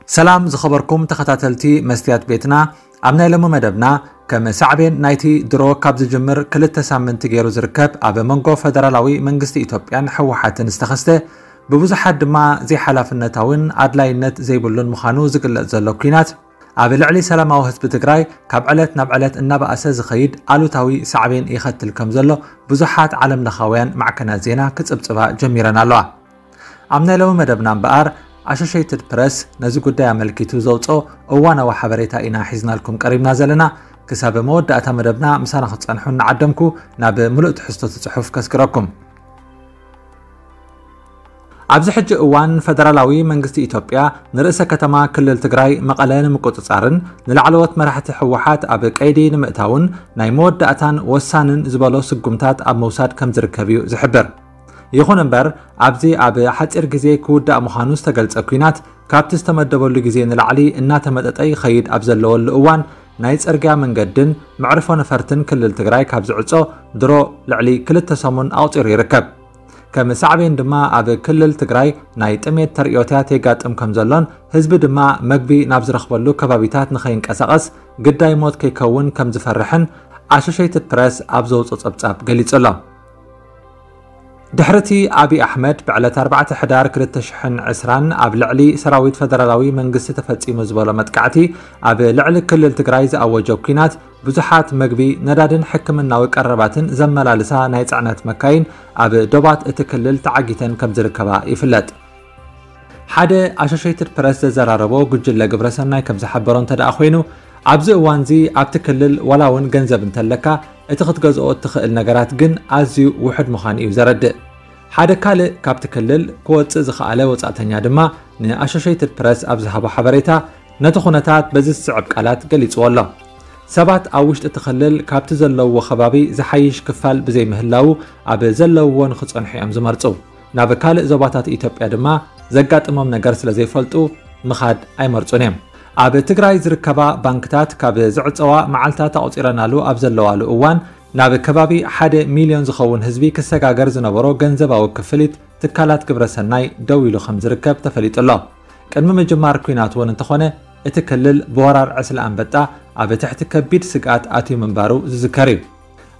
ሰላም ዝኸበርኩም ተኸታተልቲ መስትያት ቤትና፣ ኣብ ናይ ሎሚ መደብና ከም ሳዕቤን ናይቲ ድሮ ካብ ዝጅምር ክልተ ሳምንቲ ገይሩ ዝርከብ ኣብ መንጎ ፈደራላዊ መንግስቲ ኢትዮጵያን ህወሓትን ዝተኸስተ፣ ብብዙሓት ድማ ዘይሓላፍነታውን ኣድላይነት ዘይብሉን ምዃኑ ዝግለጽ ዘሎ ኲናት፣ ኣብ ልዕሊ ሰላማዊ ህዝቢ ትግራይ ካብ ዕለት ናብ ዕለት እናበኣሰ ዝኸይድ ኣሉታዊ ሳዕቤን ይኸትል ከም ዘሎ ብዙሓት ዓለምለኻውያን ማዕከናት ዜና ክጽብጽባ ጀሚረን ኣለዋ። ኣብ ናይ ሎሚ መደብና እምበኣር፣ ኣሶሼይትድ ፕረስ ነዚ ጉዳይ ኣመልኪቱ ዘውፅኦ እዋናዊ ሓበሬታ ኢና ሒዝናልኩም ቀሪብና ዘለና። ክሳብ መወዳእታ መደብና ምሳና ክትፀንሑ እናዓደምኩ፣ ናብ ምሉእ ትሕዝቶ እቲ ፅሑፍ ከስግረኩም። ኣብዚ ሕጂ እዋን፣ ፈደራላዊ መንግስቲ ኢትዮጵያ ንርእሰ ከተማ ክልል ትግራይ መቐለ ንምቁጽጻርን ንላዕለዎት መራሕቲ ህወሓት ኣብ ቀይዲ ንምእታውን ናይ መወዳእታን ወሳንን ዝበሎ ስጉምታት ኣብ ምውሳድ ከም ዝርከብ እዩ ዝሕብር። ይኹን እምበር፣ ኣብዚ ኣብ ሓጺር ግዜ ክውዳእ ምዃኑ ዝተገልጸ ኲናት፣ ካብቲ ዝተመደበሉ ግዜ ንላዕሊ እናተመጠጠ ይኸይድ ኣብ ዘለወሉ እዋን፣ ናይ ጽርግያ መንገድን መዕርፎ ነፈርትን ክልል ትግራይ ካብ ዝዕጾ ድሮ ልዕሊ ክልተ ሰሙን ኣቑጺሩ ይርከብ። ከም ሳዕቤን ድማ፣ ኣብ ክልል ትግራይ ናይ ጥሜት ተርእዮታት የጋጥም ከም ዘሎን፣ ህዝቢ ድማ መግቢ ናብ ዝረኽበሉ ከባቢታት ንኸይንቀሳቐስ ግዳይ ሞት ከይከውን ከም ዝፈርሕን ኣሶሼይትድ ፕረስ ኣብ ዘውፅኦ ጸብጻብ ገሊጹ ኣሎ። ድሕሪ እቲ ኣብይ ኣሕመድ ብዕለት ኣርባዕተ ሕዳር ክልተ ሽሕን ዕስራን ኣብ ልዕሊ ሰራዊት ፈደራላዊ መንግስቲ ተፈጺሙ ዝበሎ መጥቃዕቲ፣ ኣብ ልዕሊ ክልል ትግራይ ዝኣወጆ ኲናት፣ ብዙሓት መግቢ፣ ነዳድን ሕክምናዊ ቀረባትን ዘመላልሳ ናይ ጽዕነት መካይን ኣብ ዶባት እቲ ክልል ተዓጊተን ከም ዝርከባ ይፍለጥ። ሓደ ኣሶሼይትድ ፕረስ ዘዘራረቦ ጉጅለ ግብረሰናይ ከም ዝሓበሮ እንተ ደኣ ኮይኑ፣ ኣብዚ እዋንዚ ኣብቲ ክልል ዋላ እውን ገንዘብ እንተለካ፣ እቲ ክትገዝኦ እትኽእል ነገራት ግን ኣዝዩ ውሑድ ምዃኑ እዩ ዘረድእ። ሓደ ካልእ ካብቲ ክልል ክወጽእ ዝኸኣለ ወጻእተኛ ድማ ንኣሶሼይትድ ፕረስ ኣብ ዝሃቦ ሓበሬታ፣ ነቲ ኩነታት በዚ ዝስዕብ ቃላት ገሊጽዎ ኣሎ። ሰባት ኣብ ውሽጢ እቲ ክልል ካብቲ ዘለውዎ ከባቢ ዝሓይሽ ክፋል ብዘይምህላዉ፣ ኣብ ዘለውዎ ንኽጸንሑ እዮም ዝመርጹ። ናብ ካልእ ዞባታት ኢትዮጵያ ድማ ዘጋጥሞም ነገር ስለ ዘይፈልጡ ምኻድ ኣይመርጹን እዮም። ኣብ ትግራይ ዝርከባ ባንክታት ካብ ዝዕጸዋ መዓልታት ኣቑጺረናሉ ኣብ ዘለዋሉ እዋን፣ ናብ ከባቢ ሓደ ሚልዮን ዝኸውን ህዝቢ ክሰጋገር ዝነበሮ ገንዘባዊ ክፍሊት ትካላት ግብረ ሰናይ ደው ኢሉ ከም ዝርከብ ተፈሊጡ ኣሎ። ቅድሚ ምጅማር ኲናት እውን እንተኾነ፣ እቲ ክልል ብወራር ዕስለ ኣንበጣ ኣብ ትሕቲ ከቢድ ስግኣት ኣትዩ ምንባሩ ዝዝከር እዩ።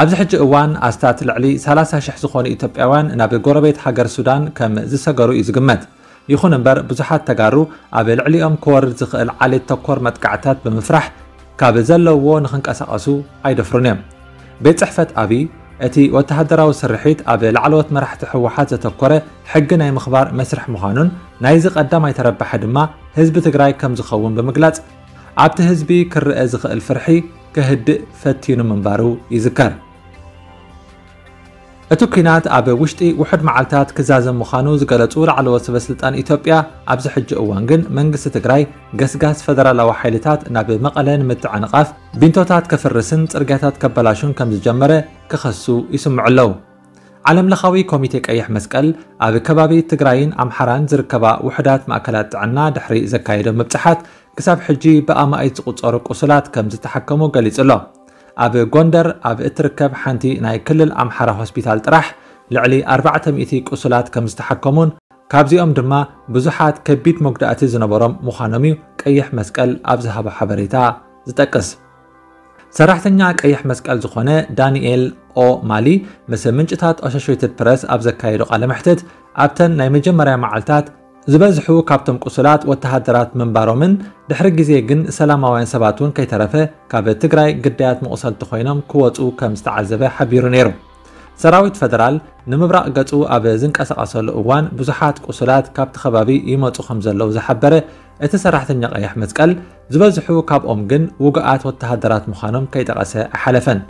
ኣብዚ ሕጂ እዋን፣ ኣስታት ልዕሊ ሰላሳ ሽሕ ዝኾኑ ኢትዮጵያውያን ናብ ጎረቤት ሃገር ሱዳን ከም ዝሰገሩ እዩ ዝግመት። ይኹን እምበር፣ ብዙሓት ተጋሩ ኣብ ልዕሊኦም ክወርድ ዝኽእል ዓሌት ተኮር መጥቃዕታት ብምፍራሕ፣ ካብ ዘለውዎ ንኽንቀሳቐሱ ኣይደፍሩን እዮም። ቤት ጽሕፈት ኣብይ፣ እቲ ወተሃደራዊ ስርሒት ኣብ ላዕለዎት መራሕቲ ህወሓት ዘተኮረ ሕጊ ናይ ምኽባር መስርሕ ምዃኑን፣ ናይዚ ቀዳማይ ተረባሒ ድማ ህዝቢ ትግራይ ከም ዝኸውን ብምግላጽ፣ ኣብቲ ህዝቢ ክረኣ ዝኽእል ፍርሒ ከህድእ ፈቲኑ ምንባሩ ይዝከር። እቲ ኲናት ኣብ ውሽጢ ውሑድ መዓልታት ክዛዘም ምዃኑ ዝገለጹ ላዕለዎት ሰበ ስልጣን ኢትዮጵያ፣ ኣብዚ ሕጂ እዋን ግን መንግስቲ ትግራይ ገስጋስ ፈደራላዊ ሓይልታት ናብ መቐለ ንምትዕንቓፍ፣ ቢንቶታት ከፍርስን ጽርግያታት ከበላሹን ከም ዝጀመረ ክኸሱ ይስምዑ ኣለዉ። ዓለምለኻዊ ኮሚቴ ቀይሕ መስቀል ኣብ ከባቢ ትግራይን ኣምሓራን ዝርከባ ውሑዳት ማእከላት ጥዕና ድሕሪ ዘካየዶ ምብጻሓት፣ ክሳብ ሕጂ ብኣማኢት ዝቑጸሩ ቁሱላት ከም ዝተሓከሙ ገሊጹ ኣሎ። ኣብ ጎንደር ኣብ እትርከብ ሓንቲ ናይ ክልል ኣምሓራ ሆስፒታል ጥራሕ ልዕሊ ኣርባዕተ ሚእቲ ቁሱላት ከም ዝተሓከሙን፣ ካብዚኦም ድማ ብዙሓት ከቢድ መጉዳእቲ ዝነበሮም ምዃኖም እዩ ቀይሕ መስቀል ኣብ ዝሃቦ ሓበሬታ ዝጠቅስ። ሰራሕተኛ ቀይሕ መስቀል ዝኾነ ዳንኤል ኦ ማሊ ምስ ምንጭታት ኣሶሼትድ ፕረስ ኣብ ዘካየዶ ቃለ መሕትት፣ ኣብተን ናይ መጀመርያ መዓልታት ዝበዝሑ ካብቶም ቁሱላት ወተሃደራት ምንባሮምን፣ ድሕሪ ግዜ ግን ሰላማውያን ሰባት እውን ከይተረፈ ካብ ትግራይ ግዳያት መቑሰልቲ ኮይኖም ክወፁ ከም ዝተዓዘበ ሓቢሩ ነይሩ። ሰራዊት ፈደራል ንምብራቕ ገፁ ኣብ ዝንቀሳቐሰሉ እዋን ብዙሓት ቁሱላት ካብቲ ከባቢ ይመፁ ከም ዘለዉ ዝሓበረ እቲ ሰራሕተኛ ቀይሕ መስቀል፣ ዝበዝሑ ካብኦም ግን ውጉኣት ወተሃደራት ምዃኖም ከይጠቐሰ ኣይሓለፈን።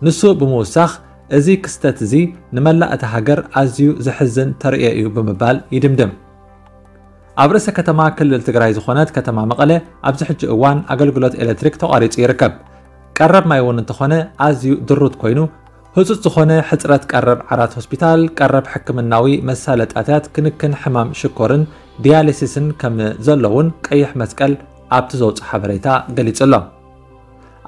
ንሱ ብምውሳኽ፣ እዚ ክስተት እዚ ንመላእ እታ ሃገር ኣዝዩ ዘሕዝን ተርእዮ እዩ ብምባል ይድምድም። ኣብ ርእሰ ከተማ ክልል ትግራይ ዝኾነት ከተማ መቐለ ኣብዚ ሕጂ እዋን ኣገልግሎት ኤሌክትሪክ ተቋሪጹ ይርከብ። ቀረብ ማይ እውን እንተኾነ ኣዝዩ ድሩት ኮይኑ፣ ህጹጽ ዝኾነ ሕጽረት ቀረብ ዓራት ሆስፒታል፣ ቀረብ ሕክምናዊ መሳለጥያታት ክንክን ሕማም ሽኮርን ዲያሊሲስን ከም ዘሎ እውን ቀይሕ መስቀል ኣብቲ ዘውጽኦ ሓበሬታ ገሊጹ ኣሎ።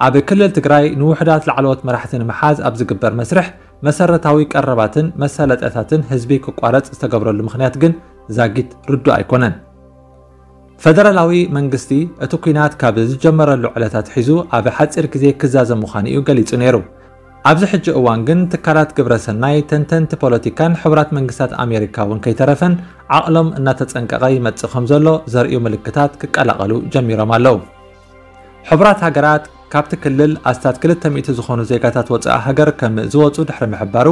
ኣብ ክልል ትግራይ ንውሑዳት ላዕለዎት መራሕቲ ንምሓዝ ኣብ ዝግበር መስርሕ መሰረታዊ ቀረባትን መሳለጥያታትን ህዝቢ ክቋረጽ ዝተገብረሉ ምኽንያት ግን ዛጊት ርዱእ ኣይኮነን። ፈደራላዊ መንግስቲ እቲ ኲናት ካብ ዝጀመረሉ ዕለት ኣትሒዙ ኣብ ሓጺር ግዜ ክዛዘም ምዃኑ እዩ ገሊጹ ነይሩ። ኣብዚ ሕጂ እዋን ግን ትካላት ግብረ ሰናይ፣ ተንተንቲ ፖለቲካን ሕቡራት መንግስታት ኣሜሪካ እውን ከይተረፈን ዓቕሎም እናተጸንቀቐ ይመጽእ ከም ዘሎ ዘርእዩ ምልክታት ክቀላቐሉ ጀሚሮም ኣለዉ። ሕቡራት ሃገራት ካብቲ ክልል ኣስታት ክልተ ሚእቲ ዝኾኑ ዜጋታት ወጻኢ ሃገር ከም ዝወጹ ድሕሪ ምሕባሩ፣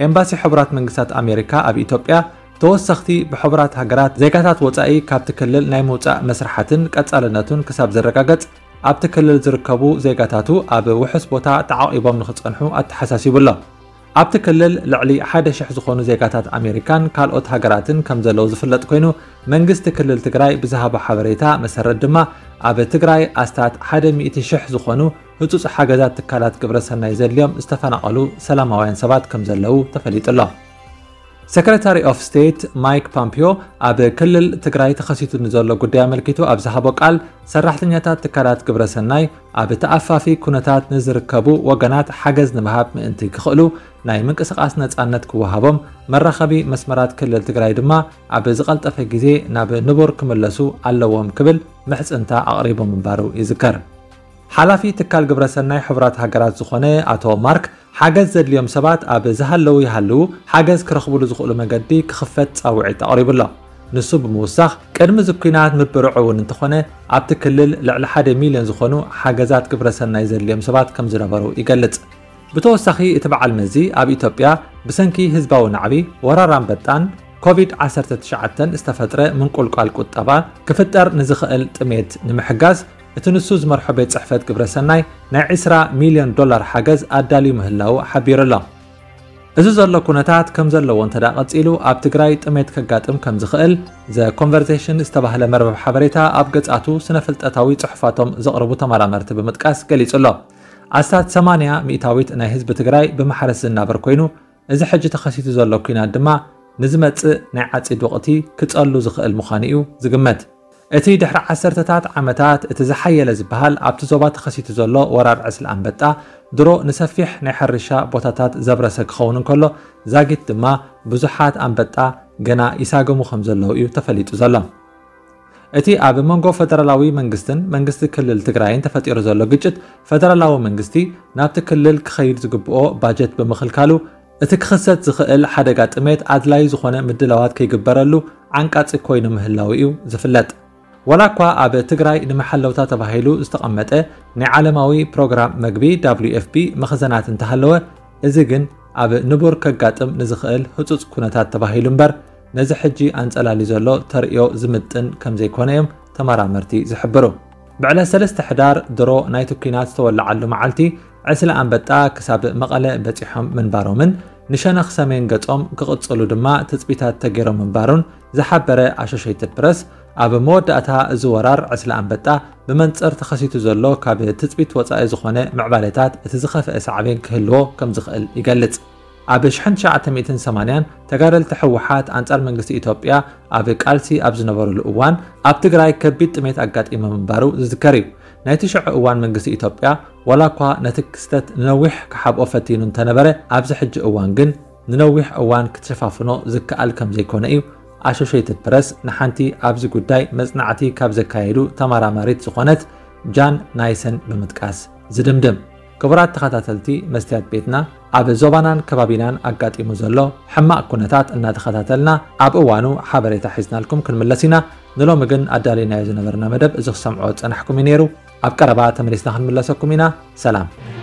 ኤምባሲ ሕቡራት መንግስታት ኣሜሪካ ኣብ ኢትዮጵያ ተወሰኽቲ ብሕቡራት ሃገራት ዜጋታት ወጻኢ ካብቲ ክልል ናይ ምውጻእ መስርሓትን ቀጻልነቱን ክሳብ ዝረጋገጽ ኣብቲ ክልል ዝርከቡ ዜጋታቱ ኣብ ውሑስ ቦታ ተዓቒቦም ንኽጸንሑ ኣተሓሳሲቡ ኣሎ። ኣብቲ ክልል ልዕሊ ሓደ ሽሕ ዝኾኑ ዜጋታት ኣሜሪካን ካልኦት ሃገራትን ከም ዘለዉ ዝፍለጥ ኮይኑ፣ መንግስቲ ክልል ትግራይ ብዝሃቦ ሓበሬታ መሰረት ድማ ኣብ ትግራይ ኣስታት ሓደ ሚእቲ ሽሕ ዝኾኑ ህጹጽ ሓገዛት ትካላት ግብረ ሰናይ ዘድልዮም ዝተፈናቐሉ ሰላማውያን ሰባት ከም ዘለዉ ተፈሊጡ ኣሎ። ሰክረታሪ ኦፍ ስቴት ማይክ ፖምፒዮ ኣብ ክልል ትግራይ ተኸሲቱ ንዘሎ ጉዳይ ኣመልኪቱ ኣብ ዝሃቦ ቃል፣ ሰራሕተኛታት ትካላት ግብረ ሰናይ ኣብ ተኣፋፊ ኩነታት ንዝርከቡ ወገናት ሓገዝ ንምሃብ ምእንቲ ክኽእሉ ናይ ምንቅስቓስ ነጻነት ክወሃቦም፣ መራኸቢ መስመራት ክልል ትግራይ ድማ ኣብ ዝቐልጠፈ ግዜ ናብ ንቡር ክምለሱ ኣለዎም ክብል ምሕጽንታ ኣቕሪቡ ምንባሩ ይዝከር። ሓላፊ ትካል ግብረ ሰናይ ሕቡራት ሃገራት ዝኾነ ኣቶ ማርክ፣ ሓገዝ ዘድልዮም ሰባት ኣብ ዝሃለዉ ይሃልዉ ሓገዝ ክረኽብሉ ዝኽእሉ መገዲ ክኽፈት ጻውዒት ኣቕሪቡ ኣሎ። ንሱ ብምውሳኽ፣ ቅድሚ እዚ ኲናት ምብርዑ እውን እንተኾነ፣ ኣብቲ ክልል ልዕሊ ሓደ ሚልዮን ዝኾኑ ሓገዛት ግብረ ሰናይ ዘድልዮም ሰባት ከም ዝነበሩ ይገልጽ። ብተወሳኺ፣ እቲ በዓል መዚ ኣብ ኢትዮጵያ ብሰንኪ ህዝባዊ ናዕቢ፣ ወራር ኣንበጣን ኮቪድ ዓሰርተ ትሽዓተ ዝተፈጥረ ምንቁልቋል ቁጠባ ክፍጠር ንዝኽእል ጥሜት ንምሕጋዝ፣ እቲ ንሱ ዝመርሖ ቤት ጽሕፈት ግብረ ሰናይ ናይ ዕስራ ሚልዮን ዶላር ሓገዝ ኣዳልዩ ምህላዉ ሓቢሩ ኣሎ። እዚ ዘሎ ኩነታት ከም ዘለዎ እንተ ደኣ ቀጺሉ፣ ኣብ ትግራይ ጥሜት ከጋጥም ከም ዝኽእል ዘ ኮንቨርሴሽን ዝተባህለ መርበብ ሓበሬታ ኣብ ገጻቱ ስነ-ፍልጠታዊ ጽሑፋቶም ዘቕርቡ ተመራመርቲ ብምጥቃስ ገሊጹ ኣሎ። ኣስታት ሰማንያ ሚእታዊት ናይ ህዝቢ ትግራይ ብማሕረስ ዝናበር ኮይኑ፣ እዚ ሕጂ ተኸሲቱ ዘሎ ኲናት ድማ ንዝመጽእ ናይ ዓጺድ ወቕቲ ክጸሉ ዝኽእል ምዃኑ እዩ ዝግመት። እቲ ድሕሪ ዓሰርተታት ዓመታት እቲ ዝሓየለ ዝበሃል ኣብቲ ዞባ ተኸሲቱ ዘሎ ወራር ዕስለ ኣንበጣ፣ ድሮ ንሰፊሕ ናይ ሕርሻ ቦታታት ዘብረሰ ክኸውን እንከሎ፣ ዛጊት ድማ ብዙሓት ኣንበጣ ገና ይሳገሙ ከም ዘለዉ እዩ ተፈሊጡ ዘሎ። እቲ ኣብ መንጎ ፈደራላዊ መንግስትን መንግስቲ ክልል ትግራይን ተፈጢሩ ዘሎ ግጭት፣ ፈደራላዊ መንግስቲ ናብቲ ክልል ክኸይድ ዝግብኦ ባጀት ብምኽልካሉ፣ እቲ ክኽሰት ዝኽእል ሓደጋ ጥሜት ኣድላዪ ዝኾነ ምድላዋት ከይግበረሉ ዓንቃጺ ኮይኑ ምህላዉ እዩ ዝፍለጥ። ዋላ እኳ ኣብ ትግራይ ንመሓለውታ ተባሂሉ ዝተቐመጠ ናይ ዓለማዊ ፕሮግራም መግቢ፣ ደብሊዩ ኤፍ ፒ፣ መኽዘናት እንተሃለወ፣ እዚ ግን ኣብ ንቡር ከጋጥም ንዝኽእል ህጹጽ ኩነታት ተባሂሉ እምበር፣ ነዚ ሕጂ ኣንጸላልዩ ዘሎ ተርእዮ ዝምጥን ከም ዘይኮነ እዮም ተመራመርቲ ዝሕብሩ። ብዕለት ሰለስተ ሕዳር ድሮ ናይቲ ኲናት ዝተወለዓሉ መዓልቲ፣ ዕስለ ኣንበጣ ክሳብ መቐለ በጺሖም ምንባሮምን ንሸነኽ ሰሜን ገጾም ክቕጽሉ ድማ ትጽቢታት ተገይሮም ምንባሩን ዝሓበረ ኣሶሼትድ ፕረስ፣ ኣብ መወዳእታ እዚ ወራር ዕስለ ኣንበጣ ብመንጽር ተኸሲቱ ዘሎ ካብ ትጽቢት ወጻኢ ዝኾነ ምዕባሌታት እቲ ዝኸፍአ ሳዕቤን ክህልዎ ከም ዝኽእል ይገልጽ። ኣብ ሽሕን ትሽዓተ ሚእትን ሰማንያን ተጋደልቲ ህወሓት ኣንጻር መንግስቲ ኢትዮጵያ ኣብ ቃልሲ ኣብ ዝነበሩሉ እዋን፣ ኣብ ትግራይ ከቢድ ጥሜት ኣጋጢሙ ምንባሩ ዝዝከር እዩ። ናይቲ ሽዑ እዋን መንግስቲ ኢትዮጵያ ዋላ እኳ ነቲ ክስተት ንነዊሕ ክሓብኦ ፈቲኑ እንተነበረ፣ ኣብዚ ሕጂ እዋን ግን ንነዊሕ እዋን ክትሸፋፍኖ ዝከኣል ከም ዘይኮነ እዩ ኣሶሼትድ ፕረስ ንሓንቲ ኣብዚ ጉዳይ መጽናዕቲ ካብ ዘካየዱ ተመራማሪት ዝኾነት ጃን ናይሰን ብምጥቃስ ዝድምድም። ክቡራት ተኸታተልቲ መስትያት ቤትና፣ ኣብ ዞባናን ከባቢናን ኣጋጢሙ ዘሎ ሕማቕ ኩነታት እናተኸታተልና ኣብ እዋኑ ሓበሬታ ሒዝናልኩም ክንምለስ ኢና። ንሎሚ ግን ኣዳሊናዮ ዝነበርና መደብ እዚ ክሰምዖ ዝጸናሕኩም እዩ ነይሩ። ኣብ ቀረባ ተመሊስና ክንምለሰኩም ኢና። ሰላም።